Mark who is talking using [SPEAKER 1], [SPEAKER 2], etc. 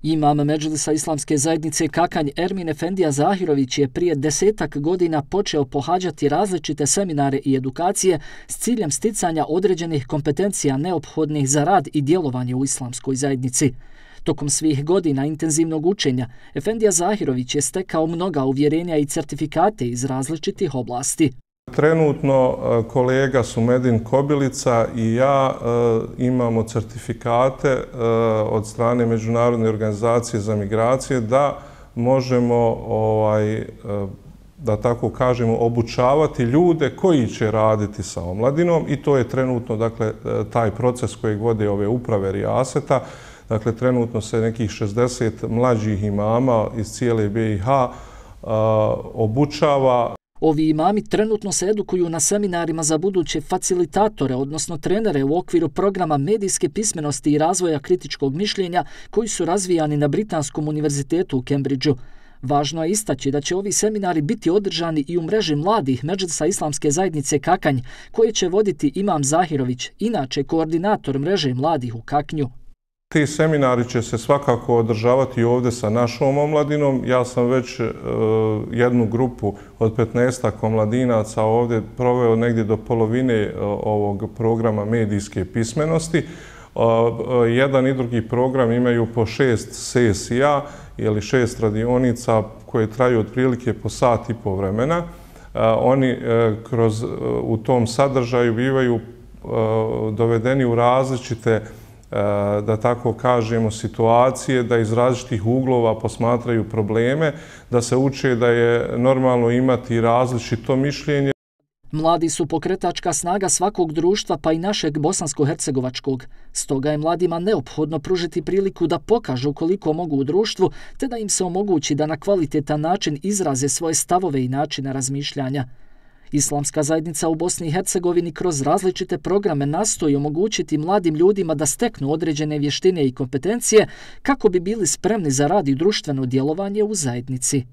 [SPEAKER 1] Imam Medžlisa Islamske zajednice Kakanj Ermin Efendija Zahirović je prije 10-ak godina počeo pohađati različite seminare i edukacije s ciljem sticanja određenih kompetencija neophodnih za rad i djelovanje u islamskoj zajednici. Tokom svih godina intenzivnog učenja, Efendija Zahirović je stekao mnoga uvjerenja i certifikate iz različitih oblasti.
[SPEAKER 2] Trenutno kolega Sumedin Kobilica i ja imamo certifikate od strane Međunarodne organizacije za migracije da možemo, da tako kažemo, obučavati ljude koji će raditi sa omladinom i to je trenutno, dakle, taj proces kojeg vode ove uprave Rijaseta. Dakle, trenutno se nekih 60 mlađih imama iz cijele BiH obučava.
[SPEAKER 1] Ovi imami trenutno se edukuju na seminarima za buduće facilitatore, odnosno trenere u okviru programa medijske pismenosti i razvoja kritičkog mišljenja koji su razvijani na Britanskom univerzitetu u Cambridgeu. Važno je istaći da će ovi seminari biti održani i u mreži mladih Medžlisa Islamske zajednice Kakanj, koje će voditi imam Zahirović, inače koordinator mreže mladih u Kaknju.
[SPEAKER 2] Ti seminari će se svakako održavati ovdje sa našom omladinom. Ja sam već jednu grupu od 15 omladinaca ovdje proveo negdje do polovine ovog programa medijske pismenosti. Jedan i drugi program imaju po 6 sesija ili 6 radionica koje traju otprilike po sat i po vremena. Oni u tom sadržaju bivaju dovedeni u različite, da tako kažemo, situacije, da iz različitih uglova posmatraju probleme, da se uče da je normalno imati različito mišljenje.
[SPEAKER 1] Mladi su pokretačka snaga svakog društva, pa i našeg bosansko-hercegovačkog. Stoga je mladima neophodno pružiti priliku da pokažu koliko mogu u društvu, te da im se omogući da na kvalitetan način izraze svoje stavove i načine razmišljanja. Islamska zajednica u Bosni i Hercegovini kroz različite programe nastoji omogućiti mladim ljudima da steknu određene vještine i kompetencije kako bi bili spremni za rad i društveno djelovanje u zajednici.